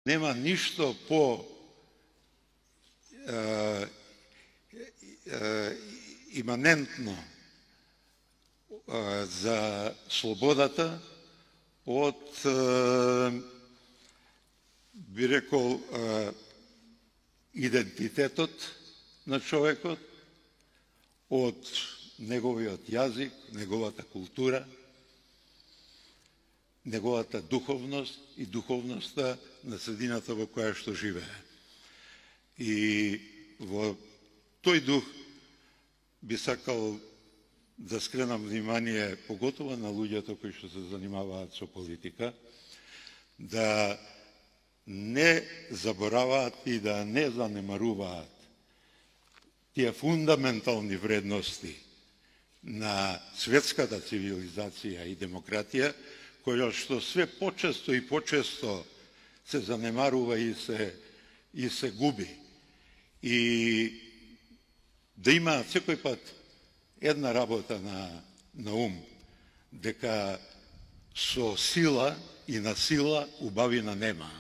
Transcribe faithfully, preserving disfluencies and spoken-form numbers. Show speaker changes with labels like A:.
A: Нема ништо по е, е, иманентно е, за слободата од, е, би рекол, е, идентитетот на човекот, од неговиот јазик, неговата култура, неговата духовност и духовноста на средината во која што живее. И во тој дух би сакал да скренам внимание, поготово на луѓето кои што се занимаваат со политика, да не забораваат и да не занемаруваат тие фундаментални вредности на светската цивилизација и демократија, која што све почесто и почесто се занемарува и се, и се губи. И да има секој пат една работа на, на ум, дека со сила и на сила убавина нема.